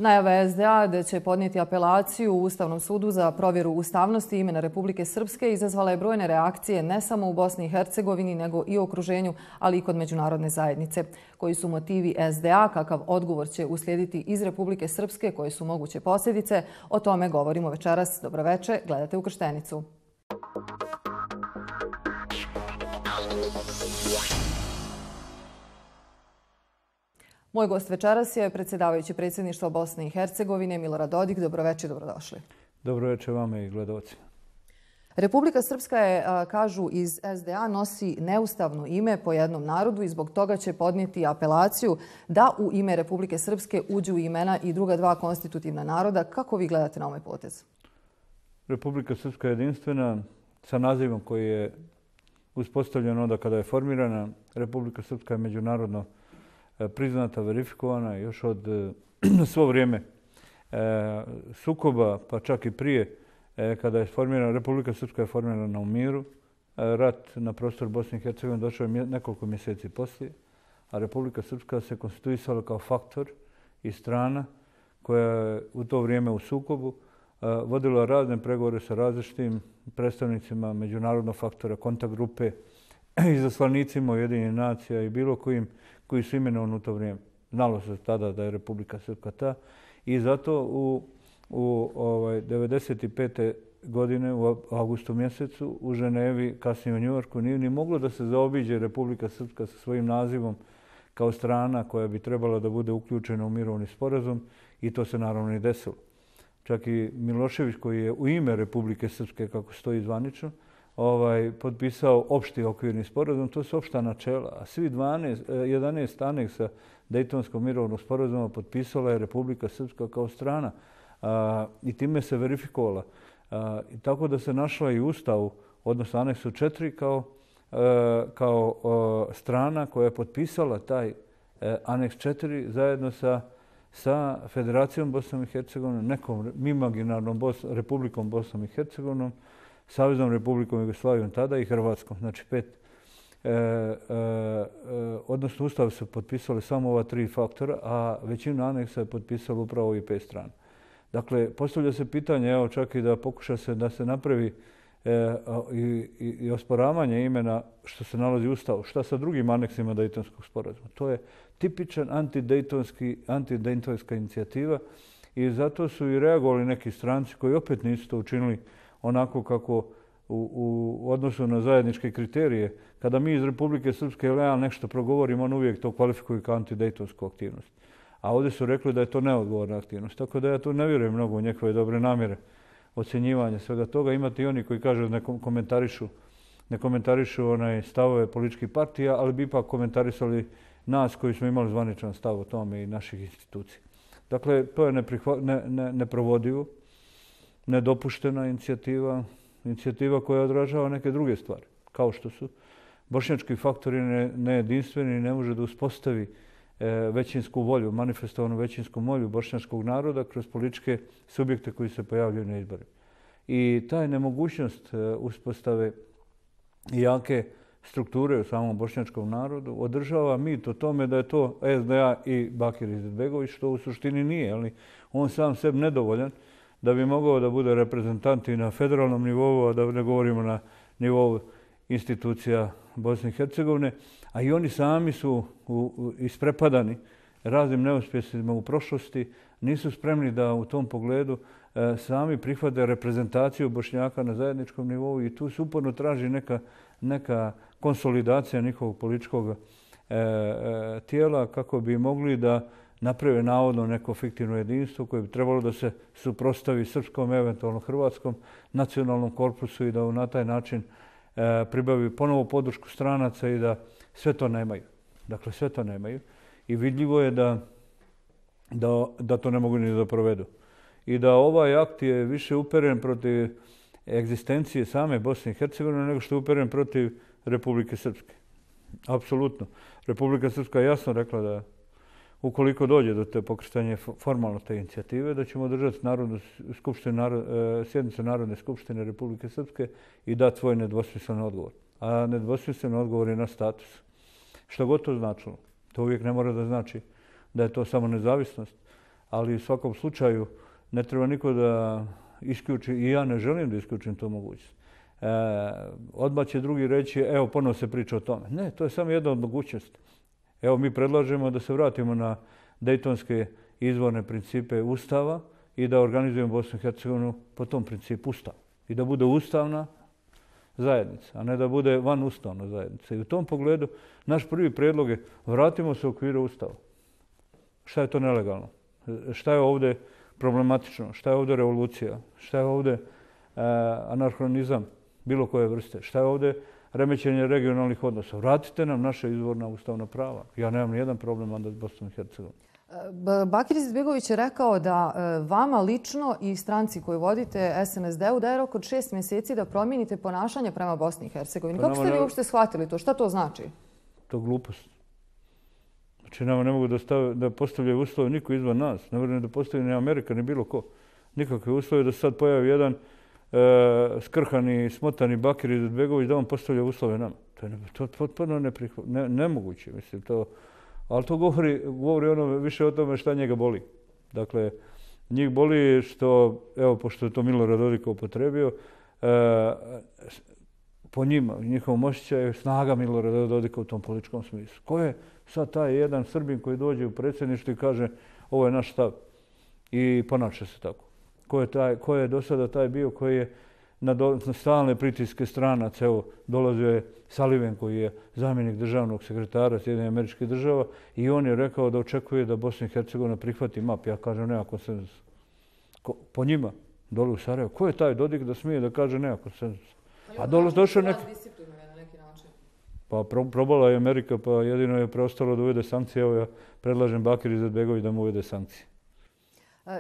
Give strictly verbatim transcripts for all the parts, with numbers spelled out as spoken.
Najava S D A da će podnijeti apelaciju u Ustavnom sudu za provjeru ustavnosti imena Republike Srpske izazvala je brojne reakcije ne samo u Bosni i Hercegovini, nego i u okruženju, ali i kod međunarodne zajednice. Koji su motivi S D A, kakav odgovor će uslijediti iz Republike Srpske, koje su moguće posljedice, o tome govorimo večeras. Dobroveče, gledate Ukrštenicu. Moj gost večeras je predsjedavajući predsjedništva Bosne i Hercegovine Milorad Dodik. Dobroveče, dobrodošli. Dobroveče vama i gledalcima. Republika Srpska je, kažu iz S D A, nosi neustavno ime po jednom narodu i zbog toga će podnijeti apelaciju da u ime Republike Srpske uđu imena i druga dva konstitutivna naroda. Kako vi gledate na ovaj potez? Republika Srpska je jedinstvena sa nazivom koji je uspostavljen onda kada je formirana. Republika Srpska je međunarodno priznata, verifikovana još od svo vrijeme sukoba, pa čak i prije kada je formirana. Republika Srpska je formirana u miru. Rat na prostoru Bosne i Hercegovine došao je nekoliko mjeseci poslije, a Republika Srpska se konstituisala kao faktor i strana koja je u to vrijeme u sukobu vodila razne pregovore sa različitim predstavnicima međunarodnog faktora, kontakt grupe, izaslanicima Ujedinjenih nacija i bilo kojim koji su imenovani u to vrijeme. Znalo se tada da je Republika Srpska ta i zato u, u ovaj, devedeset pete godine u avgustu mjesecu u Ženevi, kasnije u Njujorku, nije ni moglo da se zaobiđe Republika Srpska sa svojim nazivom kao strana koja bi trebala da bude uključena u mirovni sporazum i to se naravno i desilo. Čak i Milošević koji je u ime Republike Srpske, kako stoji zvanično, Ovaj, potpisao opšti okvirni sporazum, to su opšta načela, a svi dvanaest, jedanaest aneksa Dejtonskog mirovnog sporazuma potpisala je Republika Srpska kao strana a, i time se verifikovala. A, i tako da se našla i u Ustavu, odnosno aneksu četiri, kao, a, kao a, strana koja je potpisala taj a, aneks četiri zajedno sa, sa Federacijom Bosnom i Hercegovinom, nekom imaginarnom Bos, Republikom Bosnom i Hercegovinom, Saveznom Republikom Jugoslavijom tada i Hrvatskom, znači pet. E, e, odnosno Ustav su potpisali samo ova tri faktora, a većinu aneksa je potpisalo upravo i pet strana. Dakle, postavlja se pitanje, evo čak i da pokuša se da se napravi e, i, i, i osporavanje imena što se nalazi u Ustavu. Šta sa drugim aneksima Dejtonskog sporazuma? To je tipičan antidejtonski, antidejtonska inicijativa i zato su i reagovali neki stranci koji opet nisu to učinili onako kako u, u odnosu na zajedničke kriterije. Kada mi iz Republike Srpske leal nešto progovorimo, on uvijek to kvalifikuju kao antidejtonsku aktivnost. A ovdje su rekli da je to neodgovorna aktivnost. Tako da ja tu ne vjerujem mnogo u njegove dobre namjere ocjenjivanja svega toga. Imate i oni koji kažu da ne komentarišu, ne komentarišu onaj stavove političkih partija, ali bi ipak komentarisali nas koji smo imali zvaničan stav o tome i naših institucija. Dakle, to je neprihva, ne, ne, neprovodivo. Nedopuštena inicijativa, inicijativa koja odražava neke druge stvari, kao što su bošnjački faktori nejedinstveni i ne može da uspostavi e, većinsku volju, manifestovanu većinsku volju bošnjačkog naroda kroz političke subjekte koji se pojavljaju na izborima. I taj nemogućnost e, uspostave jake strukture u samom bošnjačkom narodu održava mit o tome da je to S D A i Bakir Izetbegović, što u suštini nije, ali on sam sebi nedovoljan da bi mogao da bude reprezentant i na federalnom nivou, a da ne govorimo na nivou institucija Bosne i Hercegovine, a i oni sami su u, u, isprepadani raznim neuspjesima u prošlosti, nisu spremni da u tom pogledu e, sami prihvate reprezentaciju Bošnjaka na zajedničkom nivou i tu se uporno traži neka, neka konsolidacija njihovog političkog e, e, tijela kako bi mogli da naprave navodno neko fiktivno jedinstvo koje bi trebalo da se suprotstavi srpskom, eventualno hrvatskom nacionalnom korpusu i da na taj način e, pribavi ponovo podršku stranaca i da sve to nemaju. Dakle, sve to nemaju. I vidljivo je da, da, da to ne mogu ni da provedu. I da ovaj akt je više uperen protiv egzistencije same Bosne i Hercegovine nego što je uperen protiv Republike Srpske. Apsolutno. Republika Srpska je jasno rekla da ukoliko dođe do te pokretanja formalno te inicijative, da ćemo održati narodnu skupštinu, narod, sjednicu Narodne skupštine Republike Srpske i dati svoj nedvosmislen odgovor. A nedvosmislen odgovor je na status. Što god to značilo. To uvijek ne mora da znači da je to samo nezavisnost. ali u svakom slučaju ne treba niko da isključi, i ja ne želim da isključim tu mogućnost. E, odmah će drugi reći, evo ponovo se priča o tome. Ne, to je samo jedna od mogućnosti. Evo mi predlažemo da se vratimo na dejtonske izvorne principe Ustava i da organizujemo Bosnu i Hercegovinu po tom principu Ustava. I da bude ustavna zajednica, a ne da bude vanustavna zajednica. I u tom pogledu naš prvi predlog je vratimo se u okviru Ustava. Šta je to nelegalno? Šta je ovdje problematično? Šta je ovdje revolucija? Šta je ovdje e, anarhonizam bilo koje vrste? Šta je ovdje remećenje regionalnih odnosa? Vratite nam naše izvorna ustavna prava. Ja nemam nijedan problem onda s Bosnom i Hercegovinom. Bakir Izetbegović je rekao da vama lično i stranci koju vodite S N S D-u daje rok od šest mjeseci da promijenite ponašanje prema Bosni i Hercegovini. Kako ste vi uopšte shvatili to? Šta to znači? To je glupost. Znači, nama ne mogu da, stave, da postavljaju uslove niko izvan nas. Ne vrlo da postavi ni Amerika, ni bilo ko. Nikakve uslove da sad pojavi jedan e, skrhani, smotani Bakir Izetbegović da on postavlja uslove nama. To je, to je potpuno neprihvat, ne, nemoguće. Mislim, to, ali to govori, govori ono više o tome šta njega boli. Dakle, njih boli što, evo, pošto je to Milorad Dodik upotrebio, e, po njima, njihovom osjećaju, snaga Milorada Dodika u tom političkom smislu. Ko je sad taj jedan Srbin koji dođe u predsjedništvo i kaže ovo je naš stav i ponaša se tako? Ko je, taj, ko je do sada taj bio koji je na, do, na stalne pritiske stranaca, evo, dolazio je Sullivan koji je zamjenik državnog sekretara Sjedinjenih Američkih Država i on je rekao da očekuje da Bosna i Hercegovina prihvati map. Ja kažem nema konsenzus. Po njima, dole u Sarajevu. Ko je taj Dodik da smije da kaže nema konsenzus? A dole došao neki... Pa probala je Amerika, pa jedino je preostalo da uvede sankcije. Evo ja predlažem Bakir Izetbegović da mu uvede sankcije.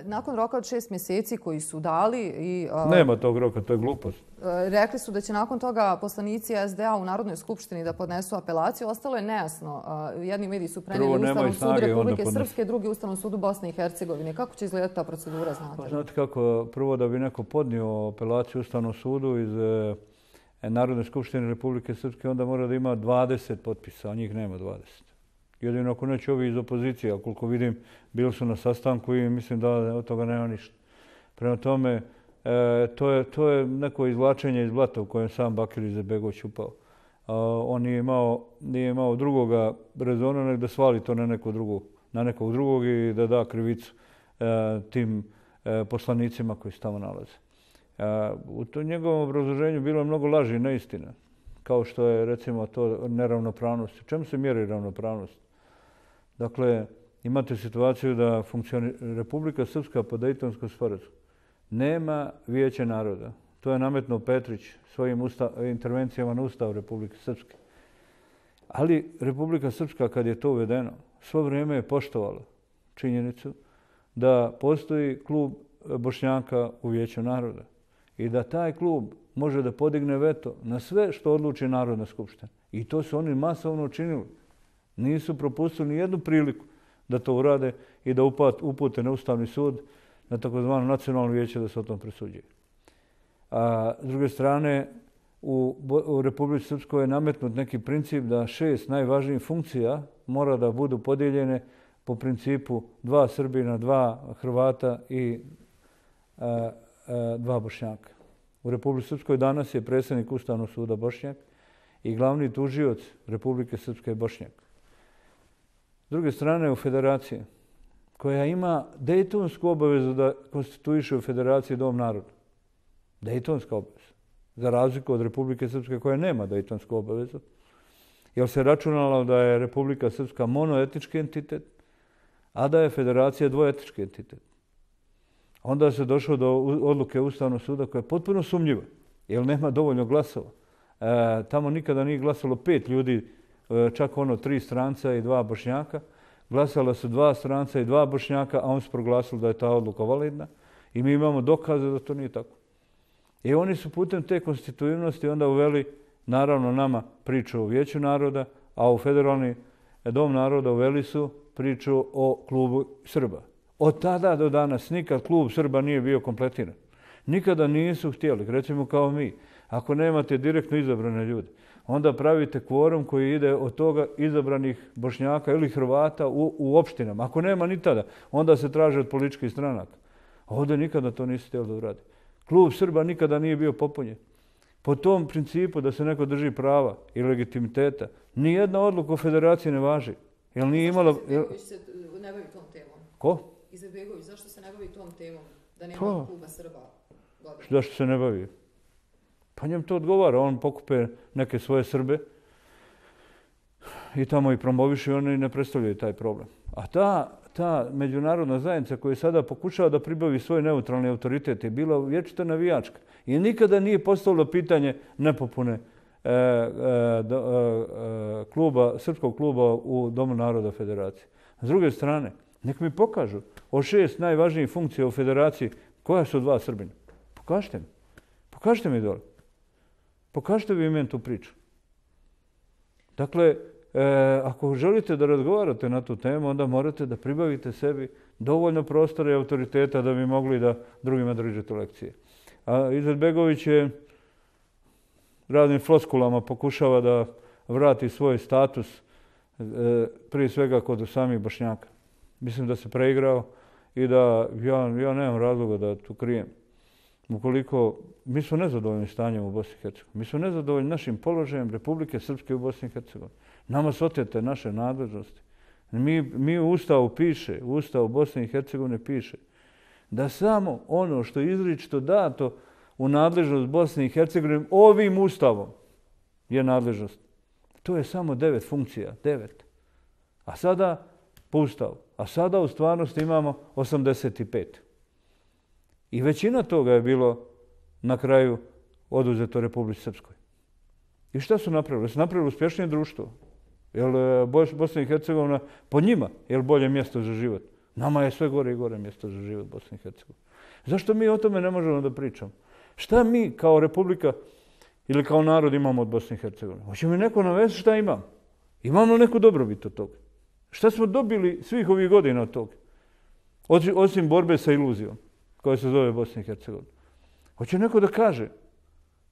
Nakon roka od šest mjeseci koji su dali i... Nema tog roka, to je glupost. Rekli su da će nakon toga poslanici S D A u Narodnoj skupštini da podnesu apelaciju. Ostalo je nejasno. Jedni mediji su prenijeli Ustavnom sudu Republike Srpske, drugi Ustavnom sudu Bosne i Hercegovine. Kako će izgledati ta procedura, znate? Pa, znate kako, prvo da bi neko podnio apelaciju Ustavnom sudu iz Narodne skupštine Republike Srpske, onda mora da ima dvadeset potpisa, a njih nema dvadeset. Jedino ako neće ovi iz opozicije, a koliko vidim, bili su na sastanku i mislim da od toga nema ništa. Prema tome, e, to, je, to je neko izvlačenje iz blata u kojem sam Bakir Izetbegović upao. A, on nije imao, nije imao drugoga rezona nego da svali to na, neko drugu, na nekog drugog i da da krivicu e, tim e, poslanicima koji se tamo nalaze. E, u to njegovom obrazloženju bilo je mnogo laži i neistina. Kao što je, recimo, to neravnopravnost. U čemu se mjeri ravnopravnost? Dakle, imate situaciju da funkcioni... Republika Srpska po Dejtonskom sporazumu nema vijeće naroda. To je nametnuo Petrić svojim usta... intervencijama na Ustav Republike Srpske. Ali Republika Srpska, kad je to uvedeno, svo vrijeme je poštovala činjenicu da postoji klub Bošnjaka u vijeću naroda i da taj klub može da podigne veto na sve što odluči Narodna skupština. I to su oni masovno učinili. Nisu propustili ni jednu priliku da to urade i da upute na Ustavni sud, na takozvano nacionalno vijeće da se o tom presuđuje. A s druge strane, u, u Republici Srpskoj je nametnut neki princip da šest najvažnijih funkcija mora da budu podijeljene po principu dva Srbina, dva Hrvata i a, a, dva Bošnjaka. U Republici Srpskoj danas je predsjednik Ustavnog suda Bošnjak i glavni tužioc Republike Srpske je Bošnjak. S druge strane, u Federaciji, koja ima dejtonsku obavezu da konstituiše u Federaciji Dom naroda. Dejtonska obaveza. Za razliku od Republike Srpske koja nema dejtonsku obavezu. Jer se računalo da je Republika Srpska monoetički entitet, a da je Federacija dvoetički entitet. Onda se došlo do odluke Ustavnog suda koja je potpuno sumnjiva, jer nema dovoljno glasova. E, tamo nikada nije glasalo pet ljudi, čak ono tri stranca i dva Bošnjaka. Glasala su dva stranca i dva Bošnjaka, a on su proglasili da je ta odluka validna. I mi imamo dokaze da to nije tako. I oni su putem te konstitutivnosti onda uveli, naravno, nama priču o Vijeću naroda, a u Federalni dom naroda uveli su priču o klubu Srba. Od tada do danas nikad klub Srba nije bio kompletiran. Nikada nisu htjeli, recimo kao mi. Ako nemate direktno izabrane ljude, onda pravite kvorum koji ide od toga izabranih Bošnjaka ili Hrvata u, u opštinama. Ako nema ni tada, onda se traže od političkih stranaka. A ovdje nikada to nisi htjeli da uradi. Klub Srba nikada nije bio popunjen. Po tom principu da se neko drži prava i legitimiteta, nijedna odluka o federaciji ne važi. Jel nije imala... Izetbegović se ne bavi tom temom. Ko? Izetbegović, zašto se ne bavi tom temom? Da nema Pa, kluba Srba godina? Zašto se ne bavi? Pa njem to odgovara. On pokupe neke svoje Srbe i tamo i promoviše i oni ne predstavljaju taj problem. A ta, ta međunarodna zajednica koja sada pokušava da pribavi svoj neutralni autoritet je bila vječita navijačka i nikada nije postavilo pitanje nepopune e, e, do, e, kluba, srpskog kluba u Domu naroda federacije. S druge strane, nek mi pokažu od šest najvažnijih funkcija u federaciji koja su dva Srbina. Pokažite mi. Pokažite mi dole. Pokažite vi meni tu priču. Dakle, e, ako želite da razgovarate na tu temu, onda morate da pribavite sebi dovoljno prostora i autoriteta da bi mogli da drugima držite lekcije. A Izetbegović je raznim floskulama pokušava da vrati svoj status e, prije svega kod samih Bošnjaka. Mislim da se preigrao i da ja, ja nemam razloga da tu krijem. Ukoliko mi smo nezadovoljni stanjem u Bosni i Hercegovini, mi smo nezadovoljni našim položajem Republike Srpske u Bosni i Hercegovini. Nama su otete naše nadležnosti. Mi, mi u Ustavu piše, u Ustavu Bosne i Hercegovine piše da samo ono što je izričito dato u nadležnost Bosne i Hercegovine ovim Ustavom je nadležnost. To je samo devet funkcija, devet. A sada po Ustavu. A sada u stvarnosti imamo osamdeset pet. I većina toga je bilo na kraju oduzeto Republici Srpskoj. I šta su napravili? Su napravili uspješnije društvo. Jer Bosna i Hercegovina po njima je bolje mjesto za život. Nama je sve gore i gore mjesto za život Bosne i Hercegovine. Zašto mi o tome ne možemo da pričamo? Šta mi kao Republika ili kao narod imamo od Bosne i Hercegovine? Hoće mi neko navesti šta imamo? Imamo neku dobrobit od toga. Šta smo dobili svih ovih godina od toga? Osim borbe sa iluzijom koja se zove Bosna i Hercegovina. Hoće neko da kaže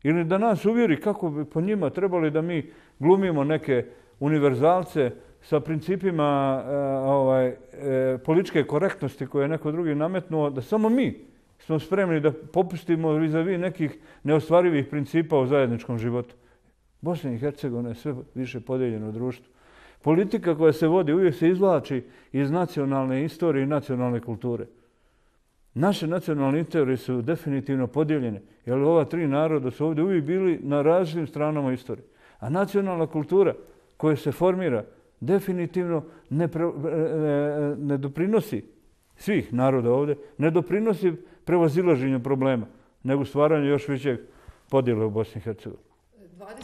ili da nas uvjeri kako bi po njima trebali da mi glumimo neke univerzalce sa principima e, ovaj, e, političke korektnosti koje je neko drugi nametnuo, da samo mi smo spremni da popustimo vis-a-vis nekih neostvarivih principa u zajedničkom životu. Bosna i Hercegovina je sve više podijeljeno društvo. Politika koja se vodi uvijek se izvlači iz nacionalne istorije i nacionalne kulture. Naše nacionalne istorije su definitivno podijeljene, jer ova tri naroda su ovdje uvijek bili na različitim stranama istorije. A nacionalna kultura koja se formira definitivno ne, pre, ne, ne doprinosi svih naroda ovdje, ne doprinosi prevazilaženju problema, nego stvaranju još većeg podjela u Bosni i Hercegovini.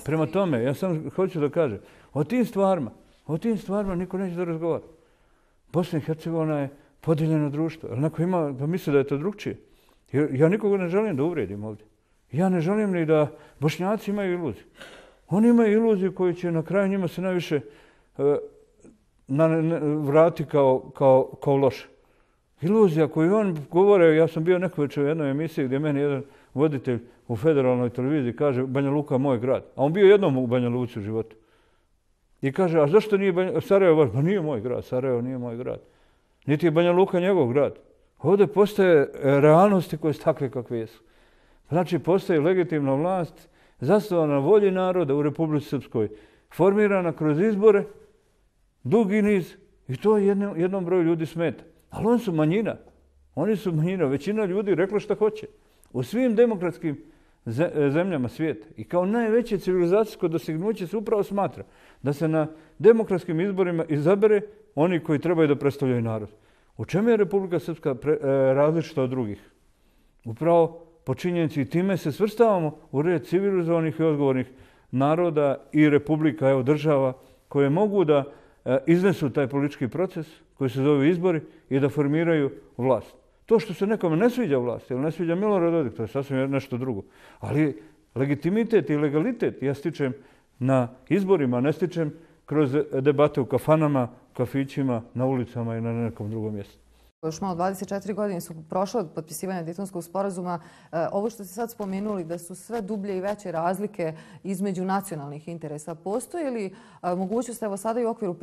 Prema tome, ja sam hoću da kažem, o tim stvarima, o tim stvarima niko neće da razgovara. Bosna i Hercegovina je podijeljeno društvo. Ali neko ima da misli da je to drugčije. Ja nikoga ne želim da uvrijedim ovdje. Ja ne želim ni da Bošnjaci imaju iluziju. Oni imaju iluziju koju će na kraju njima se najviše uh, na, ne, vrati kao, kao, kao loše. Iluzija koju on govore, ja sam bio neko večer u jednoj emisiji gdje meni jedan voditelj u federalnoj televiziji kaže Banja Luka moj grad. A on bio jednom u Banja Luci u životu. I kaže, a zašto nije Banja, Sarajevo? Pa nije moj grad, Sarajevo nije moj grad. Niti je Banja Luka njegov grad. Ovdje postoje realnosti koje su takve kakve jesu. Znači, postoji legitimna vlast zasnovana na volji naroda u Republici Srpskoj, formirana kroz izbore, dugi niz, i to jednom, jednom broju ljudi smeta. Ali oni su manjina. Oni su manjina. Većina ljudi rekla šta hoće. U svim demokratskim zemljama svijeta i kao najveće civilizacijsko dostignuće se upravo smatra da se na demokratskim izborima izabere oni koji trebaju da predstavljaju narod. U čemu je Republika Srpska pre, e, različita od drugih? Upravo po činjenici i time se svrstavamo u red civilizovanih i odgovornih naroda i republika, evo država, koje mogu da e, iznesu taj politički proces koji se zove izbori i da formiraju vlast. To što se nekome ne sviđa vlast ili ne sviđa Milorad Dodik, to je sasvim nešto drugo. Ali legitimitet i legalitet ja stičem na izborima, ne stičem kroz debate u kafanama, kafićima, na ulicama i na nekom drugom mjestu. Još malo dvadeset četiri godine su prošle od potpisivanja Dejtonskog sporazuma. Ovo što ste sad spomenuli da su sve dublje i veće razlike između nacionalnih interesa. Postoji li mogućnost, evo sada i u okviru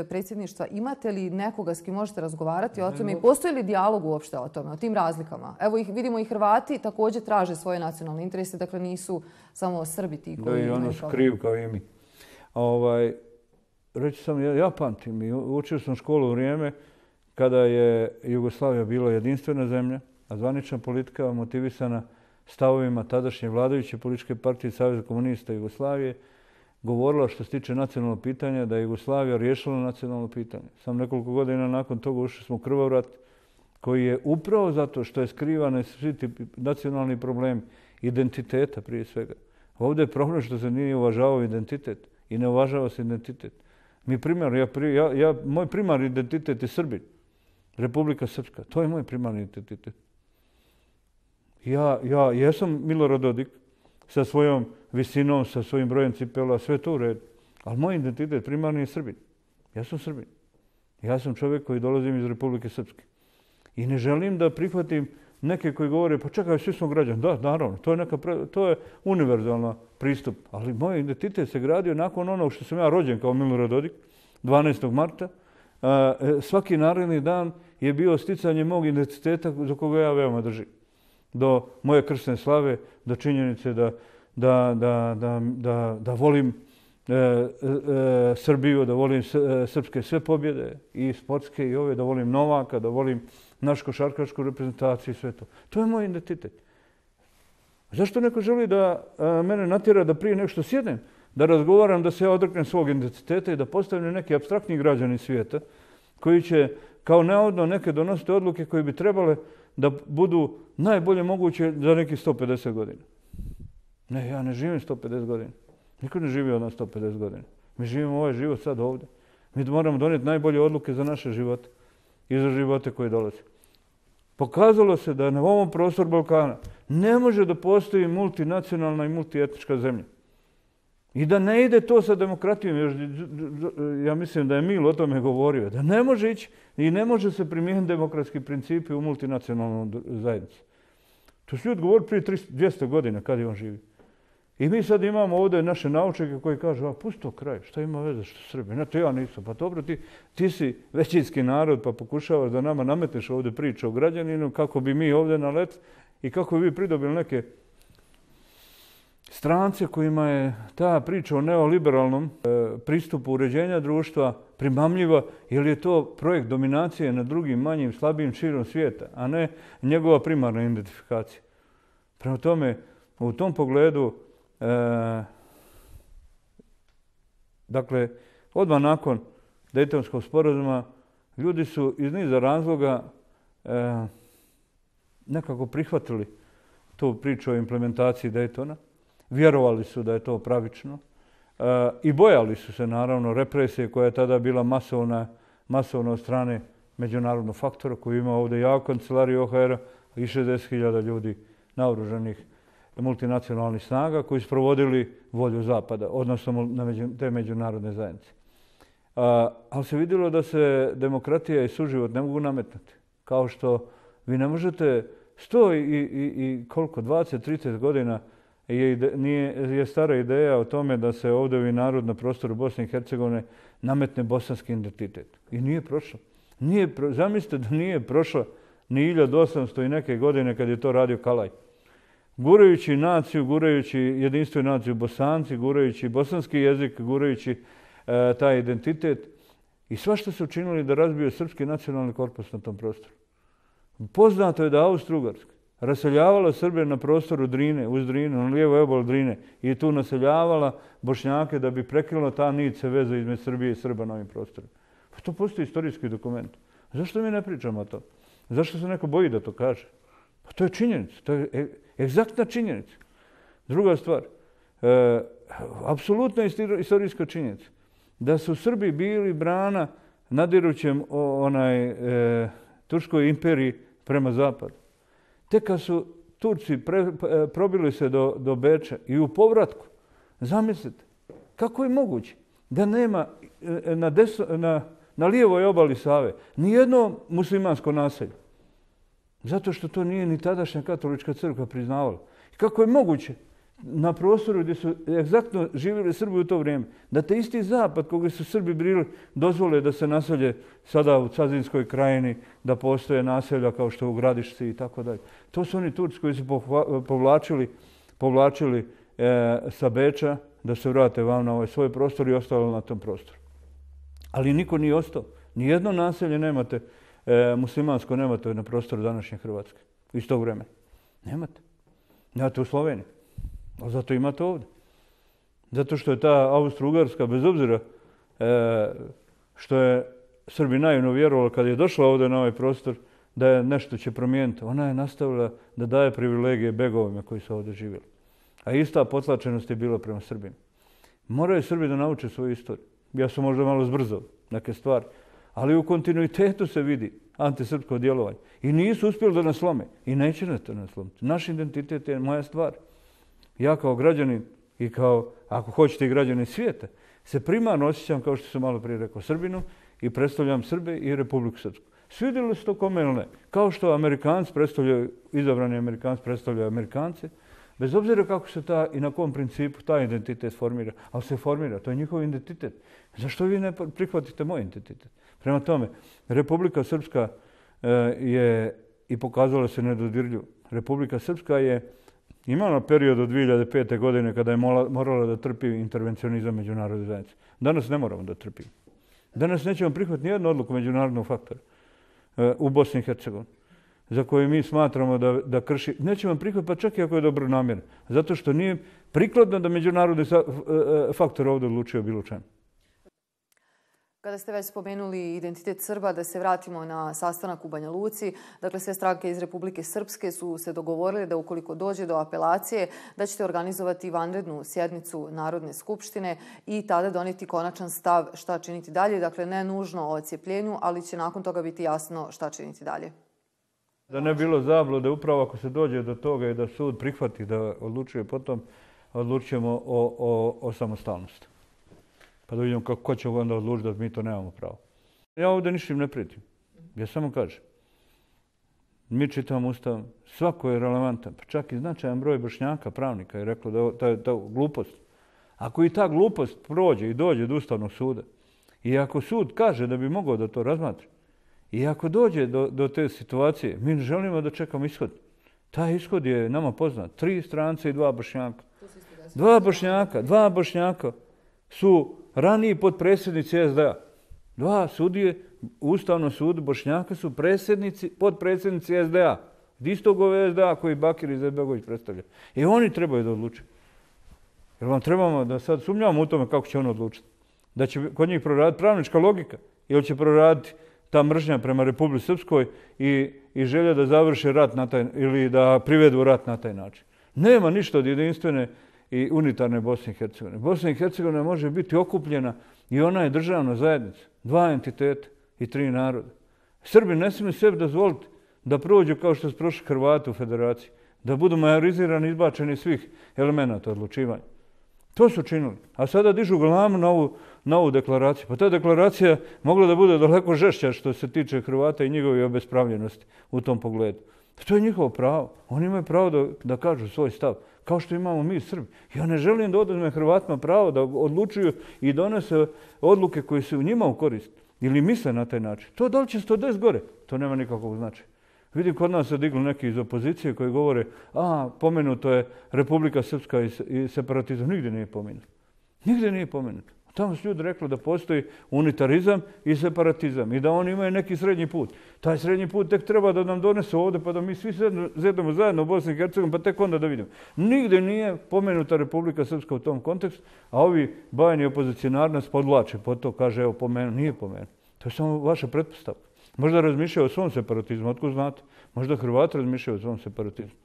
predsjedništva, imate li nekoga s kim možete razgovarati o tome i postoji li dijalog uopšte o tome, o tim razlikama? Evo ih vidimo i Hrvati također traže svoje nacionalne interese, dakle nisu samo Srbi ti koji... Da, i ono su kriv kao i mi. Ovaj, reći sam, ja, ja pamtim i učio sam školu u vrijeme kada je Jugoslavija bila jedinstvena zemlja, a zvanična politika motivisana stavovima tadašnje vladajuće političke partije Saveza komunista Jugoslavije govorila što se tiče nacionalnog pitanja da je Jugoslavija riješila nacionalno pitanje. Sam nekoliko godina nakon toga ušli smo u krvav rat koji je upravo zato što je skrivane svi ti nacionalni problemi identiteta prije svega. Ovdje je problem što se nije uvažavao identitet i ne uvažava se identitet. Mi primar, ja, ja, ja, moj primarni identitet je Srbin. Republika Srpska. To je moj primarni identitet. Ja, ja jesam Milorad Dodik sa svojom visinom, sa svojim brojem cipela, sve to u redu. Ali moj identitet primarni je Srbin. Ja sam Srbin. Ja sam čovjek koji dolazim iz Republike Srpske. I ne želim da prihvatim neke koji govore, pa čekaj, svi smo građani. Da, naravno, to je, neka, to je univerzalan pristup. Ali moj identitet se gradio nakon onog što sam ja rođen kao Milorad Dodik, dvanaestog marta. Svaki naredni dan je bio sticanje mog identiteta za koga ja veoma držim. Do moje krsne slave, do činjenice da, da, da, da, da, da volim e, e, Srbiju, da volim srpske sve pobjede, i sportske i ove, da volim Novaka, da volim našu košarkašku reprezentaciju i sve to. To je moj identitet. Zašto neko želi da a, mene natjera da prije nešto sjednem, da razgovaram, da se ja odreknem svog identiteta i da postavim neki apstraktni građani svijeta koji će kao navodno neke donositi odluke koje bi trebale da budu najbolje moguće za nekih sto pedeset godina. Ne, ja ne živim sto pedeset godina. Niko ne živi od nas sto pedeset godina. Mi živimo ovaj život sad ovdje. Mi moramo donijeti najbolje odluke za naše živote i za živote koje dolaze. Pokazalo se da na ovom prostoru Balkana ne može da postoji multinacionalna i multietnička zemlja. I da ne ide to sa demokratijom, još, ja mislim da je Mil o tome govorio, da ne može ići i ne može se primijeniti demokratski principi u multinacionalnoj zajednici. To su ljudi govorili prije dvjesto godina kad je on živi. I mi sad imamo ovdje naše naučnike koji kažu, a pusti to kraj, šta ima veze što Srbi? Ne, to ja nisam. Pa dobro, ti, ti si većinski narod pa pokušavaš da nama nametneš ovdje priču o građaninu kako bi mi ovdje nalet i kako bi vi pridobili neke strance kojima je ta priča o neoliberalnom e, pristupu uređenja društva primamljiva, jer je to projekt dominacije nad drugim, manjim, slabijim širom svijeta, a ne njegova primarna identifikacija. Prema tome, u tom pogledu, e, dakle, odmah nakon Dejtonskog sporazuma, ljudi su iz niza razloga e, nekako prihvatili tu priču o implementaciji Dejtona. Vjerovali su da je to pravično e, i bojali su se naravno represije koja je tada bila masovna, masovna od strane međunarodnog faktora koji ima ovdje jako kancelariju O H R-a i šezdeset hiljada ljudi naoružanih multinacionalnih snaga koji su provodili volju Zapada, odnosno na među, te međunarodne zajednice. A, ali se vidjelo da se demokratija i suživot ne mogu nametnuti. Kao što vi ne možete sto i, i, i koliko, dvadeset trideset godina Je, ide, nije, je stara ideja o tome da se ovdje narod na prostoru Bosne i Hercegovine nametne bosanski identitet. I nije prošlo. Nije pro, zamislite da nije prošlo ni hiljadu osamsto i neke godine kad je to radio Kalaj. Gurajući naciju, gurajući jedinstvenu naciju Bosanci, gurajući bosanski jezik, gurajući e, taj identitet. I svašta su učinili da razbiju srpski nacionalni korpus na tom prostoru. Poznato je da Austro-Ugarska raseljavala Srbe na prostoru Drine, uz Drinu, na lijevoj obali Drine i tu naseljavala Bošnjake da bi prekinula ta nit se veze između Srbije i Srba na ovim prostorima. Pa to postoji istorijski dokument. Zašto mi ne pričamo o to? Zašto se neko boji da to kaže? Pa to je činjenica, to je egzaktna činjenica. Druga stvar, e, apsolutna istorijska činjenica da su Srbi bili brana nadirućem onaj e, Turskoj imperiji prema zapadu. Tek kad su Turci pre, probili se do, do Beča i u povratku, zamislite, kako je moguće da nema na, deso, na na lijevoj obali Save, nijedno muslimansko naselje. Zato što to nije ni tadašnja katolička crkva priznavala. Kako je moguće na prostoru gdje su egzaktno živjeli Srbi u to vrijeme, da te isti zapad koga su Srbi bili dozvole da se naselje sada u Cazinskoj krajini, da postoje naselja kao što u Gradišci i tako dalje. To su oni Turci koji su povlačili, povlačili e, sa Beča da se vrate vam na ovaj svoj prostor i ostalo na tom prostoru. Ali niko nije ostao. Nijedno naselje nemate, e, muslimansko nemate na prostoru današnje Hrvatske. Iz tog vremena. Nemate. Nemate u Sloveniji. Ali zato imate ovdje. Zato što je ta Austro-Ugarska, bez obzira e, što je Srbi naivno vjerovali kad je došla ovdje na ovaj prostor, da je nešto će promijeniti. Ona je nastavila da daje privilegije begovima koji su ovdje živjeli. A ista potlačenost je bila prema Srbima. Moraju Srbi da nauče svoju istoriju. Ja sam možda malo zbrzao neke stvari, ali u kontinuitetu se vidi antisrpsko djelovanje. I nisu uspjeli da nas slome. I neće nas to nas slomiti. Naš identitet je moja stvar. Ja kao građanin i kao, ako hoćete, i građanin svijeta, se primarno osjećam, kao što sam malo prije rekao, Srbinu i predstavljam Srbe i Republiku Srpsku. Svidjeli se to kome ili ne. Kao što Amerikanci predstavljaju, izabrani Amerikanci predstavljaju Amerikance, bez obzira kako se ta i na kom principu taj identitet formira, ali se formira, to je njihov identitet. Zašto vi ne prihvatite moj identitet? Prema tome, Republika Srpska je i pokazala se nedodirljivo. Republika Srpska je imala period od dvije hiljade pete. godine kada je morala da trpi intervencionizam međunarodne zajednice. Danas ne moramo da trpimo. Danas nećemo prihvatiti nijednu odluku međunarodnog faktora u Bosni i Hercegovini za koje mi smatramo da, da krši. Nećemo prihvatiti, pa čak i ako je dobro namjerno. Zato što nije prikladno da međunarodni faktor ovdje odlučio bilo čemu. Kada ste već spomenuli identitet Srba, da se vratimo na sastanak u Banja Luci. Dakle, sve stranke iz Republike Srpske su se dogovorile da ukoliko dođe do apelacije, da ćete organizovati vanrednu sjednicu Narodne skupštine i tada donijeti konačan stav šta činiti dalje. Dakle, ne nužno o odcijepljenju, ali će nakon toga biti jasno šta činiti dalje. Da ne bilo zablude, upravo ako se dođe do toga i da sud prihvati da odlučuje potom, odlučujemo o, o, o samostalnosti. Pa da vidimo kako, ko će onda odlučiti da mi to nemamo pravo. Ja ovdje ništa ne prijetim. Ja samo kažem. Mi čitamo Ustav, svako je relevantan, pa čak i značajan broj Bošnjaka, pravnika je reklo da je ta, ta glupost. Ako i ta glupost prođe i dođe do Ustavnog suda, i ako sud kaže da bi mogao da to razmatra, i ako dođe do, do te situacije, mi ne želimo da čekamo ishod. Taj ishod je nama poznat. Tri strance i dva Bošnjaka. Dva Bošnjaka, dva Bošnjaka su raniji potpredsjednici S D A. Dva sudije u Ustavnom sudu Bošnjaka su predsjednici, potpredsjednici S D A. Istog ove S D A koji Bakir Izetbegović predstavlja. I oni trebaju da odluče. Jer vam trebamo da sad sumnjamo u tome kako će on odlučiti. Da će kod njih proraditi pravnička logika ili će proraditi ta mržnja prema Republici Srpskoj i, i želja da završe rat na taj, ili da privedu rat na taj način. Nema ništa od jedinstvene i unitarne Bosne i Hercegovine. Bosna i Hercegovina može biti okupljena i ona je državna zajednica. Dva entiteta i tri naroda. Srbi ne smiju sebi dozvoliti da prođu kao što su prošli Hrvati u federaciji. Da budu majorizirani i izbačeni svih elemenata odlučivanja. To su činili. A sada dižu glavu na ovu, na ovu deklaraciju. Pa ta deklaracija mogla da bude daleko žešća što se tiče Hrvata i njegove obespravljenosti u tom pogledu. To je njihovo pravo. Oni imaju pravo da, da kažu svoj stav. Kao što imamo mi Srbi. Ja ne želim da oduzme Hrvatima pravo da odlučuju i donese odluke koje su njima u korist. Ili misle na taj način. To da li će sto deset gore? To nema nikakvog značaja. Vidim, kod nas se digli neki iz opozicije koji govore, a, pomenuto je Republika Srpska i separatizam. Nigdje nije pomenuto. Nigdje nije pomenuto. Tamo su ljudi rekli da postoji unitarizam i separatizam i da oni imaju neki srednji put. Taj srednji put tek treba da nam donesu ovdje pa da mi svi zedemo zajedno u Bosni i Hercegovini pa tek onda da vidimo. Nigdje nije pomenuta Republika Srpska u tom kontekstu, a ovi bajni opozicionari nas podvlače pod to, kaže evo pomenu, nije pomenu. To je samo vaša pretpostavka. Možda razmišljaju o svom separatizmu, otko znate? Možda Hrvati razmišljaju o svom separatizmu.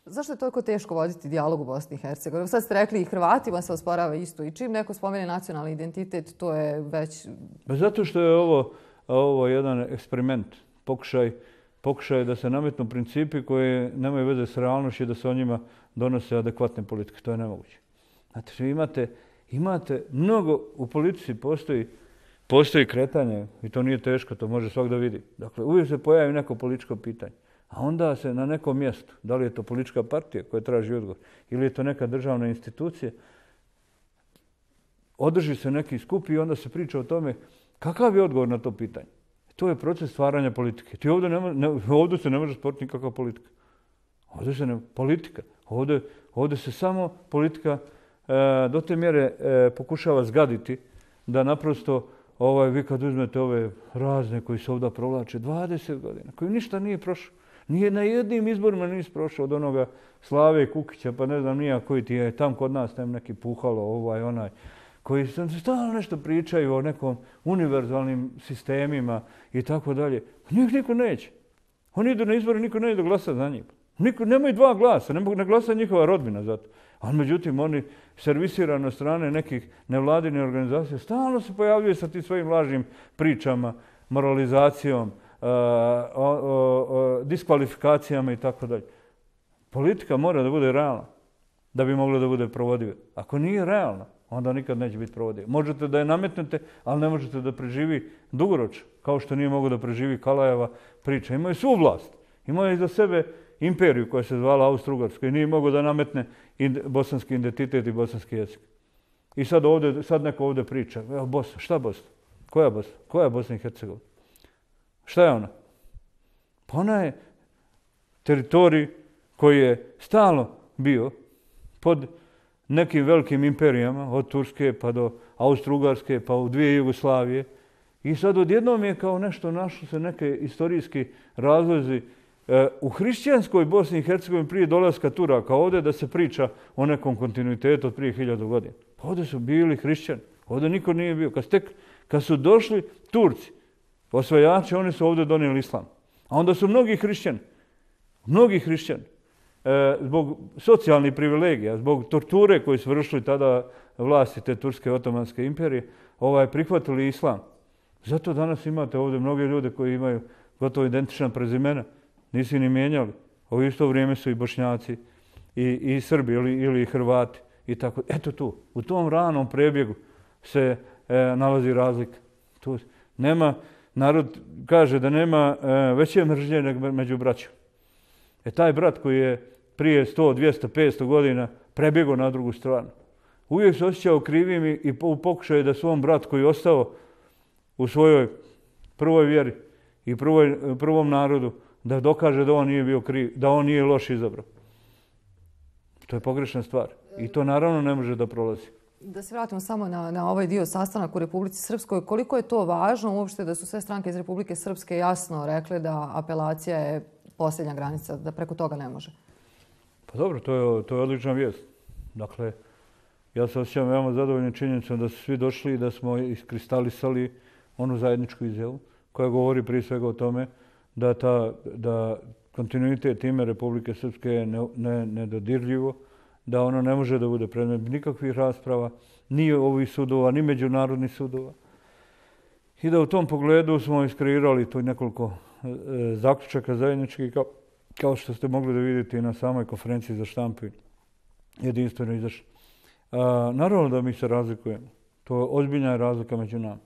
Zašto je toliko teško voditi dijalog u Bosni i Hercegovini? Sad ste rekli i Hrvatima se osporava isto i čim neko spomene nacionalni identitet, to je već... Zato što je ovo, ovo jedan eksperiment, pokušaj, pokušaj da se nametnu principi koji nemaju veze s realnošću i da se o njima donose adekvatne politike. To je nemoguće. Znate, imate, imate mnogo, u politici postoji postoji kretanje i to nije teško, to može svak da vidi. Dakle, uvijek se pojavi neko političko pitanje. A onda se na nekom mjestu, da li je to politička partija koja traži odgovor ili je to neka državna institucija, održi se neki skup i onda se priča o tome kakav je odgovor na to pitanje. To je proces stvaranja politike. Ti ovdje, ne, ne, ovdje se ne može stvoriti nikakva politika. Ovdje se ne, politika. Ovdje, ovdje se samo politika e, do te mjere e, pokušava zgaditi da naprosto ovaj, vi kad uzmete ove razne koji se ovdje provlače dvadeset godina, koji ništa nije prošao. Nije na jednim izborima nisi prošao od onoga Slave Kukića, pa ne znam nija koji ti je tam kod nas tam neki puhalo, ovaj, onaj, koji stalno nešto pričaju o nekom univerzalnim sistemima i tako dalje. Njih niko neće. Oni idu na izbore, niko neće da glasa za njih. Niko, nemaju dva glasa, ne, ne glasa njihova rodbina za to. Ali međutim, oni servisirani od strane nekih nevladinih organizacija stalno se pojavljaju sa tim svojim lažnim pričama, moralizacijom, uh, o, o, o, diskvalifikacijama i tako dalje. Politika mora da bude realna da bi mogla da bude provodiva. Ako nije realna, onda nikad neće biti provodiva. Možete da je nametnete, ali ne možete da preživi dugoročno, kao što nije mogo da preživi Kalajeva priča. Imaju svu vlast, imaju iza sebe imperiju koja se zvala Austro-Ugarska i nije mogo da nametne bosanski identitet i bosanski jezik. I sad, ovdje, sad neko ovdje priča, evo Bosna, šta Bosna? Koja Bosna? Koja je Bosna i Hercegovina? Šta je ona? Pa ona je teritorij koji je stalno bio pod nekim velikim imperijama, od Turske pa do Austro-Ugarske pa u dvije Jugoslavije. I sad odjednom je kao nešto našlo se neke istorijski razlozi e, u hrišćanskoj Bosni i Hercegovini prije dolaska Turaka ovdje da se priča o nekom kontinuitetu od prije hiljadu godina. Pa ovdje su bili hrišćani, ovdje niko nije bio. Kad, tek, kad su došli Turci, osvajači, oni su ovdje donijeli islam. A onda su mnogi hrišćani, mnogi hrišćani, e, zbog socijalnih privilegija, zbog torture koji su vršili tada vlasti te Turske otomanske imperije, ovaj, prihvatili islam. Zato danas imate ovdje mnoge ljude koji imaju gotovo identična prezimena. Nisi ni mijenjali. U isto vrijeme su i Bošnjaci, i, i Srbi ili, ili Hrvati. I tako. Eto tu, u tom ranom prebjegu se e, nalazi razlika. Tu nema, narod kaže da nema e, veće mržnje nego među braćom. E taj brat koji je prije sto, dvjesto, petsto godina prebjegao na drugu stranu, uvijek se osjećao krivim i, i u pokušaju da svom brat koji je ostao u svojoj prvoj vjeri i prvoj, prvom narodu, da dokaže da on nije bio kriv, da on nije loš izabrao. To je pogrešna stvar. I to naravno ne može da prolazi. Da se vratimo samo na, na ovaj dio sastanak u Republici Srpskoj. Koliko je to važno uopšte da su sve stranke iz Republike Srpske jasno rekle da apelacija je posljednja granica, da preko toga ne može? Pa dobro, to je, to je odlična vijest. Dakle, ja se osjećam veoma zadovoljnim činjenicom da su svi došli i da smo iskristalisali onu zajedničku izjavu koja govori prije svega o tome da, ta, da kontinuitet ime Republike Srpske je ne, ne, nedodirljivo, da ono ne može da bude predmet nikakvih rasprava, ni ovih sudova, ni međunarodnih sudova. I da u tom pogledu smo iskreirali to nekoliko e, zaključaka zajedničkih, kao, kao što ste mogli da vidite i na samoj konferenciji za štampu jedinstveno izašli. Naravno da mi se razlikujemo. To je ozbiljna razlika među nama.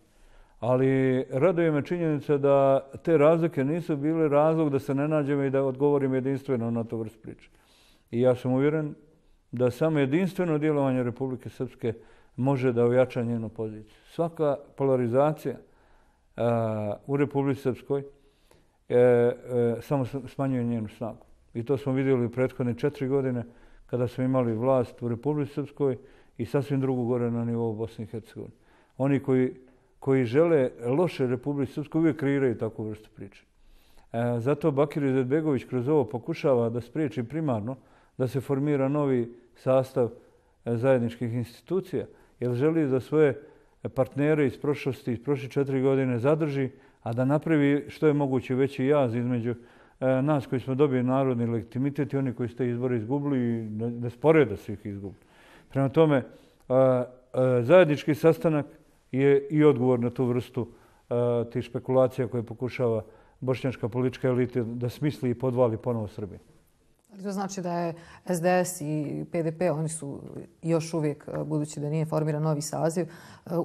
Ali raduje me činjenica da te razlike nisu bile razlog da se ne nađemo i da odgovorimo jedinstveno na to vrst priče. I ja sam uvjeren da samo jedinstveno djelovanje Republike Srpske može da ojača njenu poziciju. Svaka polarizacija a, u Republici Srpskoj e, e, samo smanjuje njenu snagu. I to smo vidjeli u prethodne četiri godine kada smo imali vlast u Republici Srpskoj i sasvim drugu gore na nivou Bosne i Hercegovine. Oni koji, koji žele loše Republici Srpskoj uvijek kreiraju takvu vrstu priče. E, zato Bakir Izetbegović kroz ovo pokušava da spriječi primarno da se formira novi sastav zajedničkih institucija, jer želi da svoje partnere iz prošlosti, iz prošle četiri godine zadrži, a da napravi što je moguće veći jaz između e, nas koji smo dobili narodni legitimitet i oni koji ste izbore izgubili i ne sporeda su ih izgubili. Prema tome, a, a, zajednički sastanak je i odgovor na tu vrstu a, tih špekulacija koje pokušava bošnjačka politička elita da smisli i podvali ponovo Srbiji. To znači da je S D S i P D P, oni su još uvijek, budući da nije formiran novi saziv,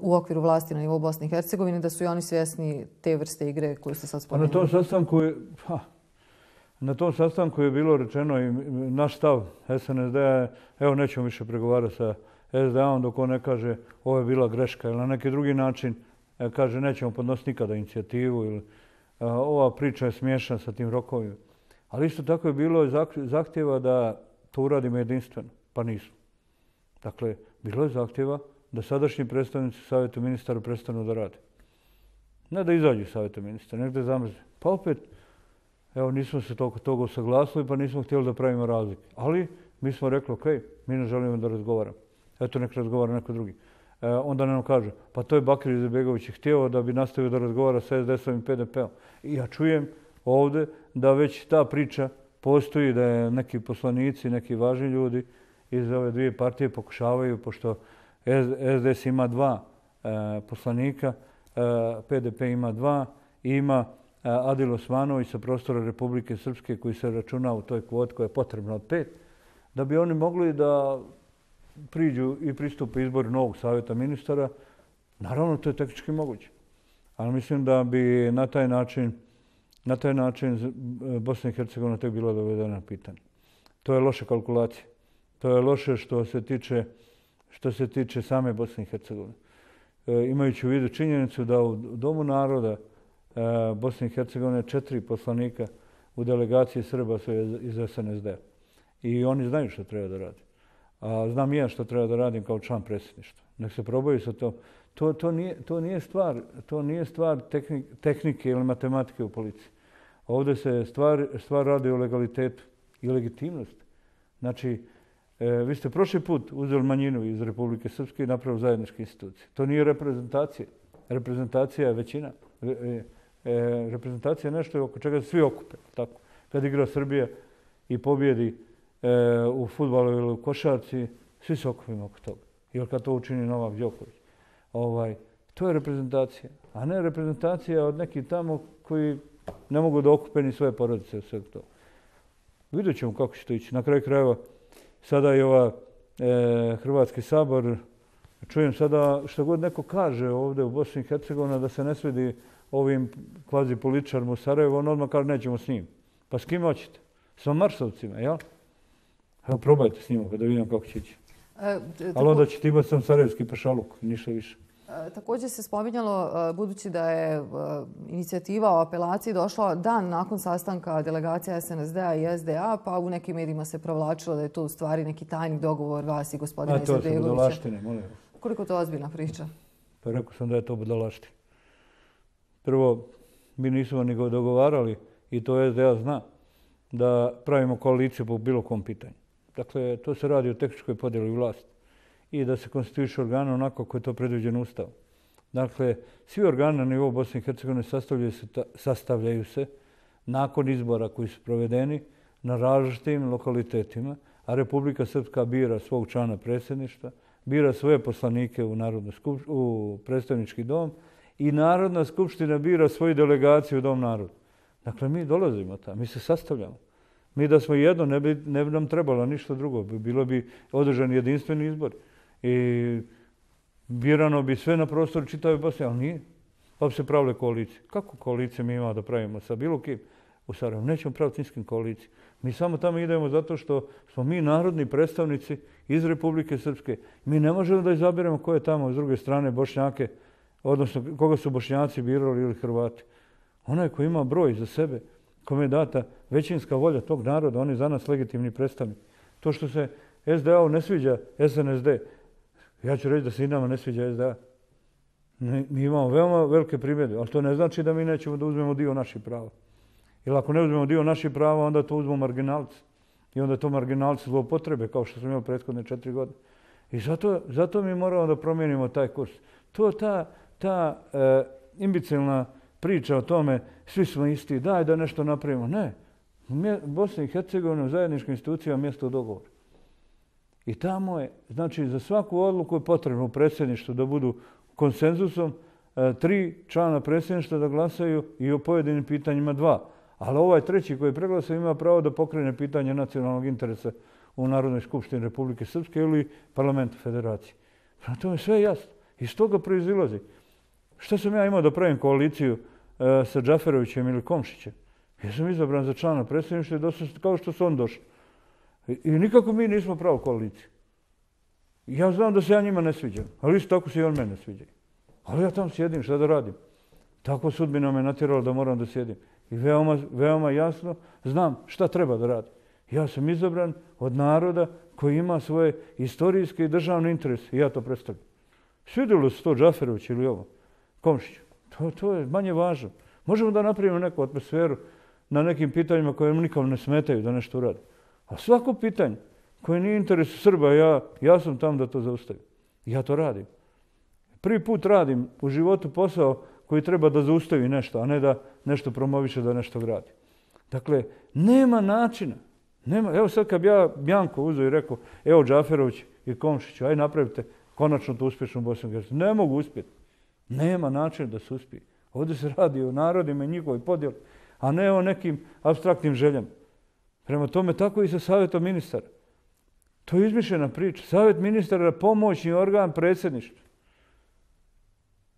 u okviru vlasti na nivou Bosne i Hercegovine, da su i oni svjesni te vrste igre koju ste sad spomenuli. Na tom sastanku je, ha, na tom sastanku je bilo rečeno i naš stav S N S D-a, evo nećemo više pregovarati sa S D A-om dok on ne kaže ovo je bila greška ili na neki drugi način kaže nećemo podnositi nikada inicijativu ili ova priča je smiješna sa tim rokovima. Ali isto tako je bilo zahtjeva da to uradimo jedinstveno, pa nismo. Dakle, bilo je zahtjeva da sadašnji predstavnici Savjeta ministara prestanu da rade. Ne da izađu iz Savjeta ministara, nek da zamrze. Pa opet, evo, nismo se toliko toga usaglasili, pa nismo htjeli da pravimo razlike. Ali mi smo rekli, ok, mi ne želimo da razgovaramo. Eto, nek razgovara neko drugi. E, onda nam kaže, pa to je Bakir Izetbegović htio da bi nastavio da razgovara sa S D S-om i P D P-om. I ja čujem ovdje da već ta priča postoji, da je neki poslanici, neki važni ljudi iz ove dvije partije pokušavaju, pošto S D S ima dva e, poslanika, e, P D P ima dva i ima e, Adil Osmanović sa prostora Republike Srpske koji se računa u toj kvoti koja je potrebna od pet, da bi oni mogli da priđu i pristupe izboru novog savjeta ministara. Naravno, to je tehnički moguće. Ali mislim da bi na taj način Na taj način Bosna i Hercegovina tek bila dovedena na pitanje. To je loša kalkulacija. To je loše što se tiče, što se tiče same Bosne i Hercegovine. E, imajući u vidu činjenicu da u Domu naroda e, Bosne i Hercegovine četiri poslanika u delegaciji Srba su iz S N S D-a. I oni znaju što treba da radi. A znam i ja što treba da radim kao član predsjedništva. Nek se probaju sa to. To, to, nije, to nije stvar, to nije stvar tehnik, tehnike ili matematike u policiji. Ovdje se stvar, stvar radi o legalitetu i legitimnosti. Znači, e, vi ste prošli put uzeli manjinu iz Republike Srpske i napravili zajedničke institucije. To nije reprezentacija. Reprezentacija je većina. Re, e, e, reprezentacija je nešto oko čega se svi okupe. Tako. Kad igra Srbija i pobjedi e, u fudbalu ili u košarci, svi se okupimo oko toga. Ili kad to učini Novak Đoković. Ovaj, to je reprezentacija, a ne reprezentacija od nekih tamo koji ne mogu da okupe ni svoje porodice od svega toga. Vidjet ćemo kako će to ići. Na kraju krajeva, sada i ova e, Hrvatski sabor, čujem sada što god neko kaže ovdje u Bosni i Hercegovini da se ne svidi ovim kvazi političarima u Sarajevu, on odmah kaže nećemo s njim. Pa s kim hoćete? S Marsovcima, jel? Evo, probajte s njima da vidim kako će ići. E, Ali onda ćete imati sam sarajevski pašaluk, ništa više. E, također se spominjalo, budući da je e, inicijativa o apelaciji došla dan nakon sastanka delegacija S N S D-a i S D A, pa u nekim medijima se provlačilo da je to u stvari neki tajni dogovor vas i gospodina Izetbegovića. A to su budalaštine, molim. Koliko to ozbiljna priča? Pa rekao sam da je to budalaštine. Prvo, mi nismo ni dogovarali, i to S D A zna, da pravimo koaliciju po bilo kom pitanju. Dakle, to se radi o tehničkoj podjeli vlasti i da se konstituiše organe onako kako je to predviđeno Ustavom. Dakle, svi organi na nivou Bosne i Hercegovine sastavljaju se, sastavljaju se nakon izbora koji su provedeni na različitim lokalitetima, a Republika Srpska bira svog člana predsjedništva, bira svoje poslanike u, skup, u predstavnički dom i Narodna skupština bira svoju delegaciju u Dom naroda. Dakle, mi dolazimo tamo, mi se sastavljamo. Mi da smo jedno, ne bi, ne bi nam trebalo ništa drugo. Bilo bi održani jedinstveni izbor. I birano bi sve na prostoru čitave Bosne, ali nije. Pa bi se pravile koalicije. Kako koalicije mi imamo da pravimo sa bilo kim u Sarajevu? Nećemo praviti niskim koalicije. Mi samo tamo idemo zato što smo mi narodni predstavnici iz Republike Srpske. Mi ne možemo da izabiremo ko je tamo s druge strane Bošnjake, odnosno koga su Bošnjaci birali ili Hrvati. Onaj ko ima broj za sebe, kome je data većinska volja tog naroda, on je za nas legitimni predstavnik. To što se S D A-u ne sviđa S N S D, ja ću reći da se i nama ne sviđa S D A. Mi imamo veoma velike primjedbe, ali to ne znači da mi nećemo da uzmemo dio naših prava. Jer ako ne uzmemo dio naših prava, onda to uzmemo marginalci. I onda to marginalci zloupotrebe, kao što smo imali prethodne četiri godine. I zato, zato mi moramo da promijenimo taj kurs. To ta, ta e, imbecilna priča o tome, svi smo isti, daj da nešto napravimo. Ne. Bosna i Hercegovina u zajedničkim institucijama mjesto dogovora. I tamo je, znači, za svaku odluku je potrebno u predsjedništvu da budu konsenzusom, e, tri člana predsjedništva da glasaju i o pojedinim pitanjima dva. Ali ovaj treći koji je preglasao ima pravo da pokrene pitanje nacionalnog interesa u Narodnoj skupštini Republike Srpske ili parlamentu federacije. Prema tome sve je jasno. Iz toga proizilazi. Šta sam ja imao da pravim koaliciju e, sa Džaferovićem ili Komšićem? Ja sam izabran za člana predsjedništva kao što su on došli. I, I nikako mi nismo pravo koaliciju. Ja znam da se ja njima ne sviđam, ali isto tako se i on mene sviđa. Ali ja tam sjedim, šta da radim? Tako sudbina me natjerala da moram da sjedim. I veoma, veoma jasno znam šta treba da radim. Ja sam izabran od naroda koji ima svoje istorijske i državne interese. I ja to predstavljam. Svidjelo se to Džaferović ili ovo, Komšić. To, to je manje važno. Možemo da napravimo neku atmosferu na nekim pitanjima koje nikom ne smetaju da nešto uradi. A svako pitanje koje nije interes Srba, ja, ja sam tam da to zaustavim. Ja to radim. Prvi put radim u životu posao koji treba da zaustavi nešto, a ne da nešto promoviše, da nešto gradi. Dakle, nema načina. Nema, evo sad kad bi ja Bjanko uzeo i rekao, evo Džaferović i Komšić, aj napravite konačno to uspješno u Bosni i Hercegovini. Ne mogu uspjeti. Nema načina da se uspije. Ovdje se radi o narodima i njihovoj podjeli, a ne o nekim apstraktnim željama. Prema tome, tako i sa savjetom ministara. To je izmišljena priča. Savjet ministara je pomoćni organ predsjedništva.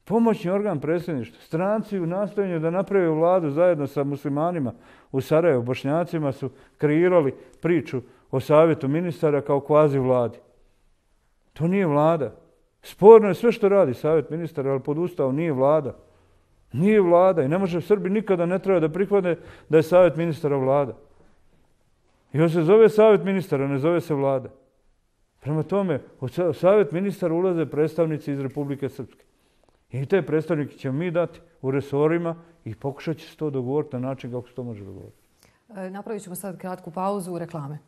Pomoćni organ predsjedništva. Stranci u nastojanju da naprave vladu zajedno sa muslimanima u Sarajevu, Bošnjacima su kreirali priču o savjetu ministara kao kvazi vladi. To nije vlada. Sporno je sve što radi savjet ministara, ali pod Ustavom nije vlada. Nije vlada i ne može Srbi nikada ne treba da prihvate da je savjet ministara vlada. I on se zove savjet ministara, ne zove se vlada. Prema tome, u savjet ministara ulaze predstavnici iz Republike Srpske. I te predstavnike ćemo mi dati u resorima i pokušat će se to dogovoriti na način kako se to može dogovoriti. Napravit ćemo sad kratku pauzu u reklame.